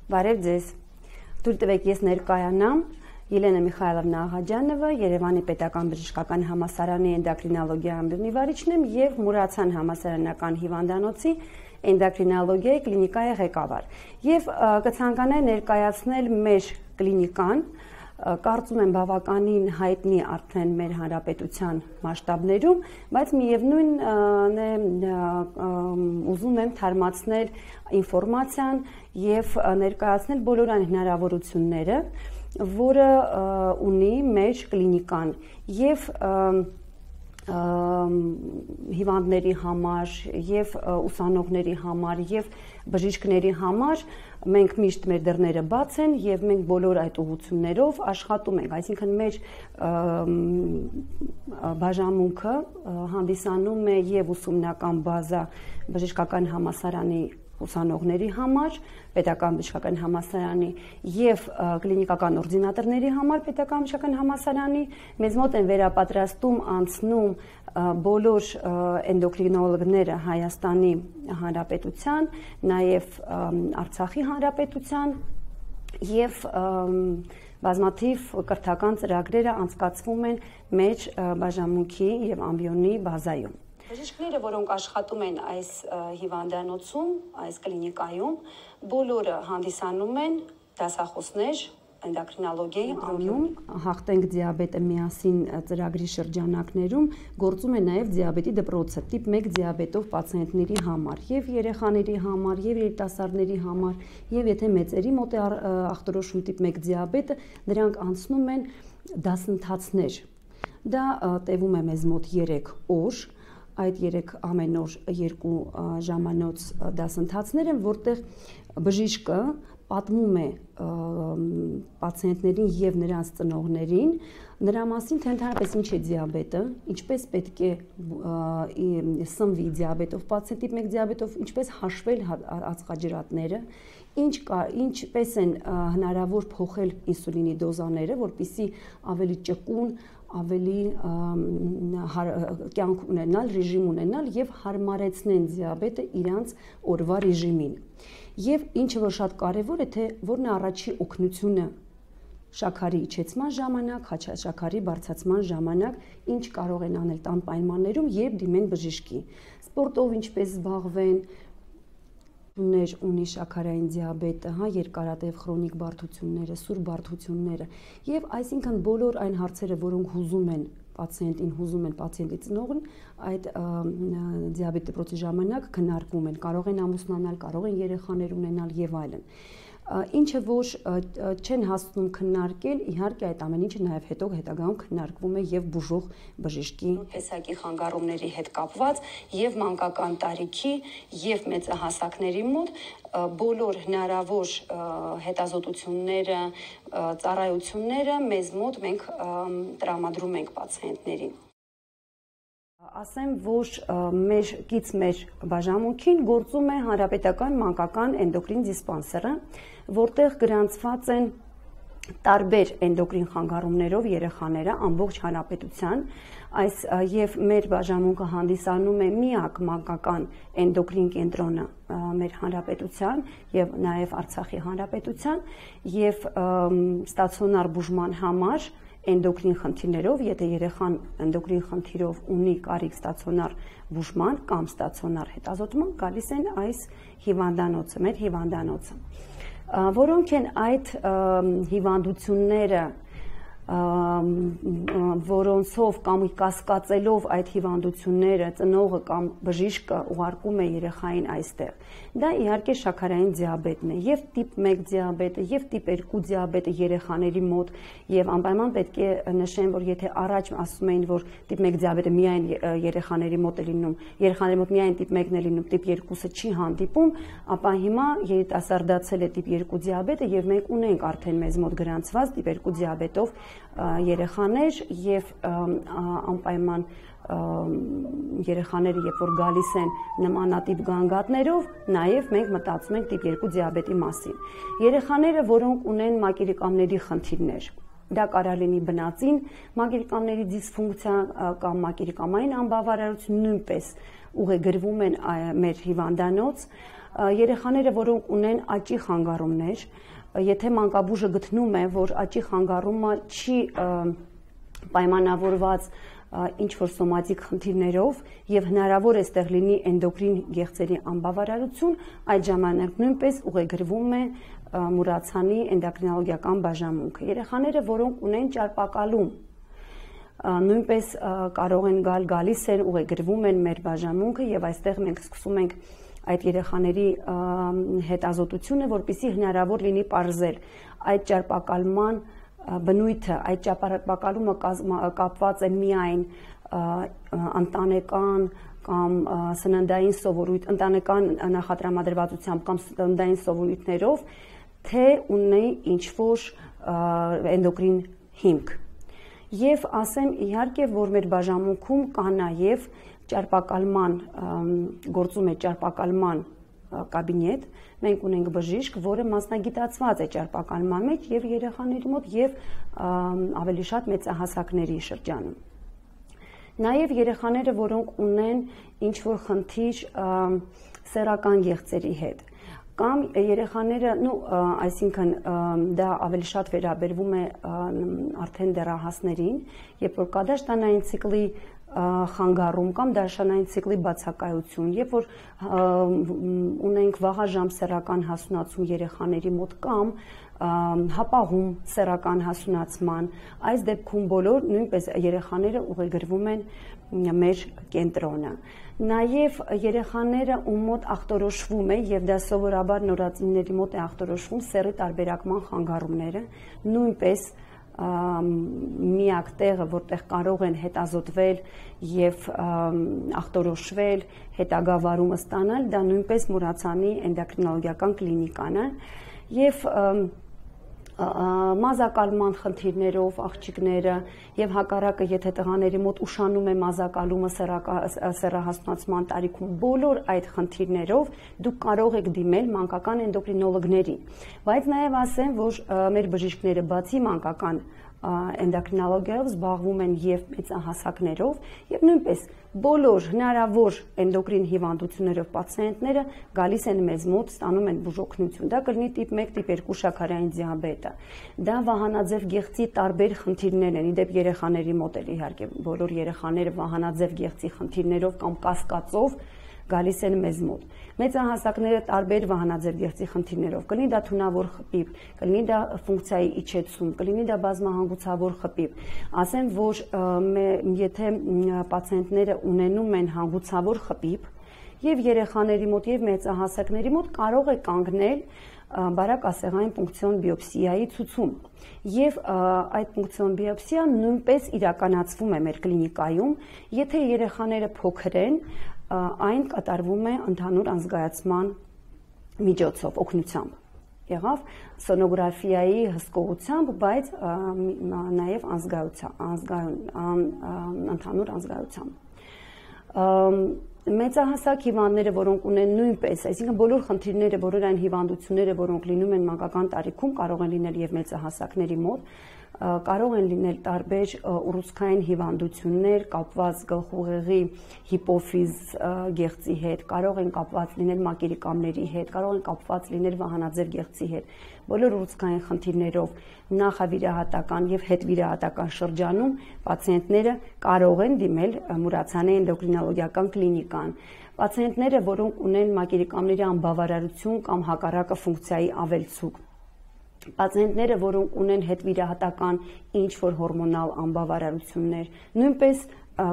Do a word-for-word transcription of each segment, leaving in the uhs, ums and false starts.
Բարև ձեզ։ Թույլ տվեք ես ներկայանամ Ելենա Միխայելովնա Աղաջանովը, Երևանի Պետական Բժշկական Համալսարանի էնդոկրինոլոգիա ամբիոնի վարիչն եմ եւ Մուրացան համալսարանական հիվանդանոցի էնդոկրինոլոգիայի կլինիկայի ղեկավար։ Եվ կցանկանայի ներկայացնել մեր կլինիկան, կարծում եմ բավականին հայտնի արդեն մեր հանրապետության մասշտաբներում, բայց միևնույն է ուզում եմ թարմացնել ինֆորմացիան եւ ներկայացնել բոլոր այն հնարավորությունները, որը ունի մեր կլինիկան եւ հիվանդների համար եւ ուսանողների համար եւ բժիշկների համար մենք միշտ մեր դռները բաց են եւ մենք բոլոր այդ ուղղություններով աշխատում ենք, այսինքն մեր բաժանմունքը հանդիսանում է եւ ուսումնական բազա բժշկական համալսարանի ուսանողների համար, պետական բժշկական համալսարանի եւ կլինիկական օրդինատորների համար պետական բժշկական համալսարանի, մեզ մոտ են վերապատրաստում անցնում բոլոր էնդոկրինոլոգները Հայաստանի Հանրապետության, նաեւ Արցախի Հանրապետության եւ բազմաթիվ կրթական ծրագրերը անցկացվում են մեր բաժանմունքի եւ ամբիոնի բազայում։ Բժիշկները, որոնք աշխատում են այս հիվանդանոցում, այս կլինիկայում, բոլորը հանդիսանում են դասախոսներ էնդոկրինոլոգիայի ամբիոնում, հաղթենք դիաբետը միասին ծրագրի շրջանակներում գործում է նաև դիաբետի դպրոցը, տիպ մեկ դիաբետով պացիենտների համար, եւ երեխաների համար, եւ երիտասարդների համար, եւ եթե մեծերի մոտ է ախտորոշում տիպ մեկ դիաբետը, նրանք անցնում են դասընթացներ։ Դա տևում է մեզ մոտ երեք օր։ Այդ երեք ամեն օր երկու ժամանոց դասընթացներ են, որտեղ բժիշկը պատմում է պացիենտներին եւ նրանց ծնողներին նրա մասին, թե ընդհանրապես ինչ է դիաբետը, ինչպես պետք է սնվի դիաբետով պացիենտ, տիպ մեկ դիաբետով, ինչպես հաշվել ածխաջրատները, ինչ ինչպես են հնարավոր փոխել ինսուլինի դոզաները, որպեսզի ավելի ճկուն ավելի կյանք ունենալ, ռեժիմ ունենալ եւ հարմարեցնեն դիաբետը իրանց օրվա ռեժիմին։ Եվ ինչը որ շատ կարեւոր է, թե որն է առաջի օգնությունը շաքարի իջեցման ժամանակ, շաքարի բարձրացման ժամանակ, ինչ կարող են անել տան պայմաններում, երբ դիմեն բժշկի։ Սպորտով ինչպես զբաղվեն, ներ ունի շաքարային դիաբետը, հա, երկարատև քրոնիկ բարդությունները, սուր բարդությունները եւ այսինքն բոլոր այն հարցերը, որոնք հուզում են պացիենտին, հուզում են պացիենտի ծնողին, այդ դիաբետ դպրոցի ժամանակ քննարկվում են, կարող են ամուսնանալ, կարող են երեխաներ ունենալ եւ այլն։ Ինչը որ չեն հասնում քննարկել, իհարկե այդ ամեն ինչը նաև հետո հետագայում քննարկվում է եւ բուժող բժշկի տեսակի խանգարումների հետ կապված եւ մանկական տարիքի եւ մեծահասակների մոտ բոլոր հնարավոր հետազոտությունները, ծառայությունները մեզ մոտ մենք տրամադրում ենք պացիենտներին։ Ասեմ, որ մեր կից մեր բաժանմունքին գործում է հանրապետական մանկական էնդոկրին դիսպանսերը, որտեղ գրանցված են տարբեր էնդոկրին խանգարումներով երեխաները ամբողջ հանրապետության, այս եւ մեր բաժանմունքը հանդիսանում է միակ մանկական էնդոկրին կենտրոնը մեր հանրապետության եւ նաեւ Արցախի հանրապետության եւ ստացիոնար բուժման համար էնդոկրին խնդիրներով, եթե երեխան էնդոկրին խնդիրով ունի կարիք ստացիոնար բուժման կամ ստացիոնար հետազոտման, գալիս են այս հիվանդանոցը, մեր հիվանդանոցը, որոնք են այդ հիվանդությունները, որոնցով կամ կասկածելով այդ հիվանդությունները ծնողը կամ բժիշկը ուղարկում է երեխային այստեղ։ Դա իհարկե շաքարային դիաբետն է, եւ տիպ մեկ դիաբետը, եւ տիպ երկու դիաբետը երեխաների մոտ, եւ անպայման պետք է նշեմ, որ եթե առաջ ասում էին, որ տիպ մեկ դիաբետը միայն երեխաների մոտ է լինում, երեխաների մոտ միայն տիպ մեկն է լինում, տիպ երկուսը չի հանդիպում, ապա հիմա երիտասարդացել է տիպ երկու դիաբետը եւ մենք ունենք արդեն մեզ մոտ գրանցված տիպ երկու դիաբետով երեխաներ եւ անպայման երեխաները երբ որ գալիս են նմանատիպ գանգատներով, նաեւ մենք մտածում ենք տիպ երկու դիաբետի մասին։ Երեխաները, որոնք ունեն մակերիկամների խնդիրներ, դա կարող լինի բնածին մակերիկամների դիսֆունկցիա կամ մակերիկամային անբավարարություն, նույնպես ուղեգրվում են մեր հիվանդանոց, երեխաները, որոնք ունեն աճի խանգարումներ, եթե մանկաբույժը գտնում է, որ աճի խանգարումը չի պայմանավորված ինչ-որ սոմատիկ խնդիրներով և հնարավոր է ստեղ լինի էնդոկրին գեղձերի անբավարարություն, այդ ժամանակ նույնպես ուղեգրվում է մուրացանի էնդոկրինոլոգիական բաժանմունքը։ Երեխաները, որոնք ունեն ճարպակալում, նույնպես կարող են գալ, գալիս են, ուղեգրվում են մեր բաժանմունքը և այստեղ մենք սկսում ենք այդ երեխաների հետազոտությունը, որպեսզի հնարավոր լինի պարզել այդ ճարպակալման բնույթը, այդ ճարպակալումը կապված է միայն ընտանեկան կամ սննդային սովորույթ, ընտանեկան նախատրամադրվածությամբ կամ սննդային սովորույթներով, թե ունի ինչ-որ էնդոկրին հիմք։ Եվ ասեմ իհարկե, որ մեր բաժանմունքում կա նաև ճարպակալման, գործում է ճարպակալման կաբինետ, մենք ունենք բժիշկ, որը մասնագիտացված է ճարպակալման մեջ և երեխաների մոտ և ավելի շատ մեծահասակների շրջանում։ Նաև երեխաները, որոնք ունեն ինչ-որ խնդիր սեռական գեղձերի հետ, կամ երեխաները, այսինքն դա ավելի շատ վերաբերվում է արդեն դեռահասներին, երբ որ կա դաշտանային ցիկլի խանգարում կամ դաշտանային ցիկլի բացակայություն, երբ որ ունենք վաղաժամ սեռական հասունացում երեխաների մոտ կամ հապաղում սեռական հասունացման, այս դեպքում բոլոր նույնպես երեխաները ուղեգրվում են մեր կենտրոնը։ Նաև երեխաները, ում մոտ ախտորոշվում է, և դա սովորաբար նորածինների մոտ է ախտորոշվում սեռի տարբերակման խանգարումները, նույնպես միակ տեղը, որտեղ կարող են հետազոտվել և ախտորոշվել, հետագա վարումը ստանալ, դա նույնպես մուրացանի էնդոկրինոլոգիական կլինիկան է և մազակալման խնդիրներով աղջիկները և հակառակը, եթե տղաների մոտ ուշանում է մազակալումը սեռահասունացման տարիքում, բոլոր այդ խնդիրներով դուք կարող եք դիմել մանկական էնդոկրինոլոգների, բայց նաև ասեմ, որ մեր բժիշկները բացի մանկական էնդոկրինոլոգիայով զբաղվում են և մեծահասակներով և նույնպես բոլոր հնարավոր էնդոկրին հիվանդություններով պացիենտները գալիս են մեզ մոտ, ստանում են բուժօգնություն։ Դա կլինի տիպ մեկ, տիպ երկու շաքարային դիաբետը, դա վահանաձև գեղձի տարբեր խնդիրներ են, իդեպ երեխաների մոտ էլ իհարկե բոլոր երեխաները վահանաձև գեղձի խնդիրներով կամ կասկածով գալիս են մեզ մոտ։ Մեծահասակները տարբեր վահանաձև գեղձի խնդիրներով, կլինի դա թունավոր խպիվ, կլինի դա ֆունկցիայի իջեցում, կլինի դա բազմահանգուցավոր խպիվ։ Ասեմ, որ եթե պացիենտները ունենում են հանգուցավոր խպիվ և երեխաների մոտ և մեծահասակների մոտ կարող է կանգնել բարակասեղային պունկցիոն բիոպսիայի ցուցում և այդ պունկցիոն բիոպսիան նույնպես իրականացվում է մեր կլինիկայում, եթե երեխաները փոքր են, այն կատարվում է ընդհանուր անզգայացման միջոցով, օգնությամբ։ Եղավ սոնոգրաֆիայի հսկողությամբ, բայց նաև ընդհանուր անզգայությամբ։ Մեծահասակ հիվանդները, որոնք ունեն նույնպես, այսինքն բոլոր խնդիրները, բոլոր այն հիվանդությունները, որոնք լինում են մանկական տարիքում, կարող են լինել և մեծահասակների մոտ, կարող են լինել տարբեր ուռուցքային հիվանդություններ կապված գլխուղեղի հիպոֆիզ գեղձի հետ, կարող են կապված լինել մակերիկամների հետ, կարող են կապված լինել վահանաձև գեղձի հետ։ Բոլոր ուռուցքային խնդիրներով նախավիրահատական և հետվիրահատական շրջանում պացիենտները կարող են դիմել մուրացանի էնդոկրինոլոգիական կլինիկան։ Պացիենտները, որոնք ունեն մակերիկամների անբավարարություն կամ հակառակը ֆունկցիայի ավելցուկ, պացիենտները, որոնք ունեն հետվիրահատական ինչ-որ հորմոնալ անբավարարություններ, նույնպես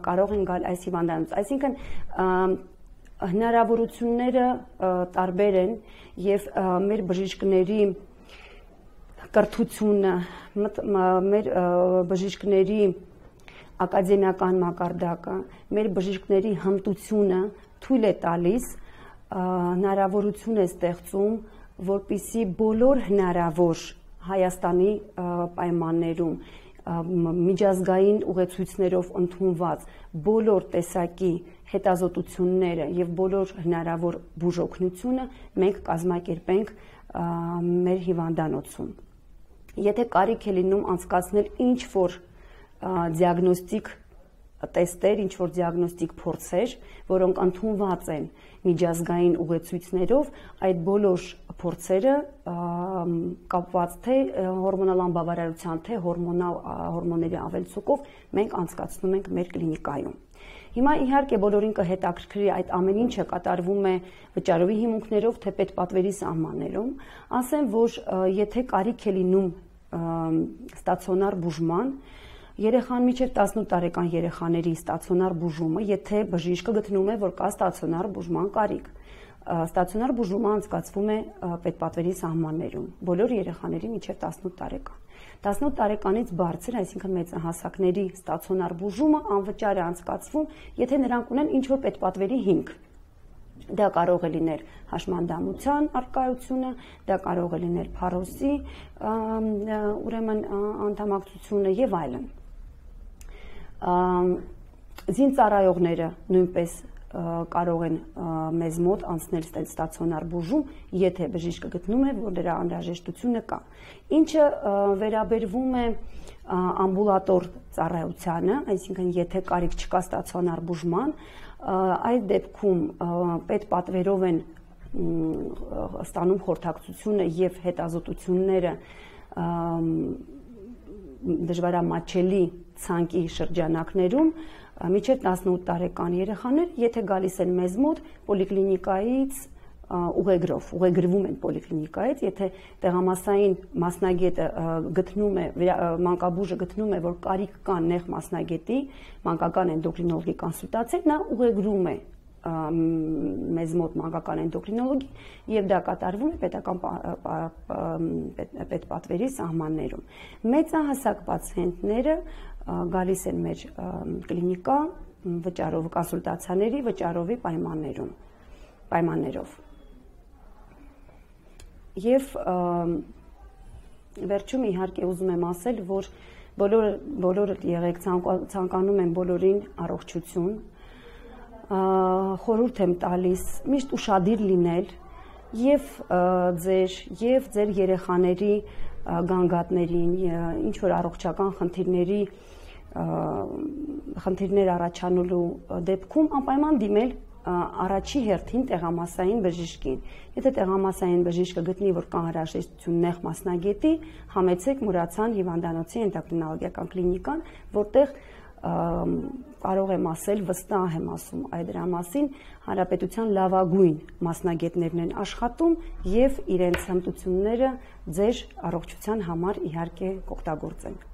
կարող են գալ այս հիվանդանոց։ Այսինքն հնարավորությունները տարբեր են և մեր բժիշկների կրթությունը, մեր բժիշկների ակադեմիական մակարդակը, մեր բժիշկների հմտությունը թույլ է տալիս, հնարավորություն է ստեղծում, որպեսզի բոլոր հնարավոր Հայաստանի պայմաններում միջազգային ուղեցույցներով ընդունված բոլոր տեսակի հետազոտությունները և բոլոր հնարավոր բուժօգնությունը մենք կազմակերպենք մեր հիվանդանոցում։ Եթե կարիք է լինում անցկացնել ինչ-որ դիագնոստիկ տեստեր, ինչ որ դիագնոստիկ փորձեր, որոնք ընդունված են միջազգային ուղեցույցներով, այդ բոլոր փորձերը կապված թե հորմոնալ անբավարարության, թե հորմոնալ հորմոնների ավելցուկով մենք անցկացնում ենք մեր կլինիկայում։ Հիմա իհարկե բոլորին կհետաքրքրի այդ ամեն ինչը կատարվում է վճարովի հիմունքներով, թե պետպատվերի սահմաններում, ասեմ, որ եթե կարիք է լինում ստացիոնար բուժման, երեխան մինչև տասնութ տարեկան երեխաների ստացիոնար բուժումը, եթե բժիշկը գտնում է, որ կա ստացիոնար բուժման կարիք, ստացիոնար բուժումը անցկացվում է պետպատվերի սահմաններում, բոլոր երեխաների մինչև տասնութ տարեկան։ տասնութ տարեկանից բարձր, այսինքն մեծահասակների ստացիոնար բուժումը անվճար է անցկացվում, եթե նրանք ունեն ինչ-որ պետպատվերի հիմք։ Դա կարող է լինել հաշմանդամության առկայությունը, դա կարող է լինել փարոսի ուրեմն անդամակցությունը եւ այլն։ Զինծառայողները նույնպես կարող են մեզ մոտ անցնել ստացիոնար բուժում, եթե բժիշկը գտնում է, որ դրա անհրաժեշտությունը կա։ Ինչը վերաբերվում է ամբուլատոր ծառայությանը, այսինքն եթե կարիք չկա ստացիոնար բուժման, այդ դեպքում պետպատվերով են ստանում խորհրդակցությունը եւ հետազոտությունները դժվարամատչելի ցանկի շրջանակներում մինչև տասնութ տարեկան երեխաներ, եթե գալիս են մեզ մոտ պոլիկլինիկայից ուղեգրով, ուղեգրվում են պոլիկլինիկայից, եթե տեղամասային մասնագետը գտնում է, մանկաբույժը գտնում է, որ կարիք կա նեղ մասնագետի, մանկական էնդոկրինոլոգի կոնսուլտացիա, նա ուղեգրում է մեզ մոտ մանկական էնդոկրինոլոգի եւ դա կատարվում է պետական պետպատվերի սահմաններում։ Մեծահասակ պացիենտները գալիս են մեր կլինիկա վճարով կոնսուլտացիաների վճարովի պայմաններում, պայմաններով։ Եվ վերջում իհարկե ուզում եմ ասել, որ բոլորը բոլորը եղեք ցանկանում են բոլորին առողջություն, խորհուրդ եմ տալիս միշտ ուշադիր լինել եւ ձեր եւ ձեր երեխաների գանգատներին, ինչ որ առողջական խնդիրների խնդիրներ առաջանալու դեպքում անպայման դիմել առաջի հերթին տեղամասային բժիշկին։ Եթե տեղամասային բժիշկը գտնի, որ կա անհրաժեշտություն նեղ մասնագետի, համեցեք Մուրացյան հիվանդանոցի էնդոկրինոլոգիական կլինիկան, որտեղ կարող եմ ասել, վստահ եմ ասում այդ դրա մասին, հանրապետության լավագույն մասնագետներն են աշխատում եւ իրենց հմտությունները ձեր առողջության համար իհարկե կօգտագործենք։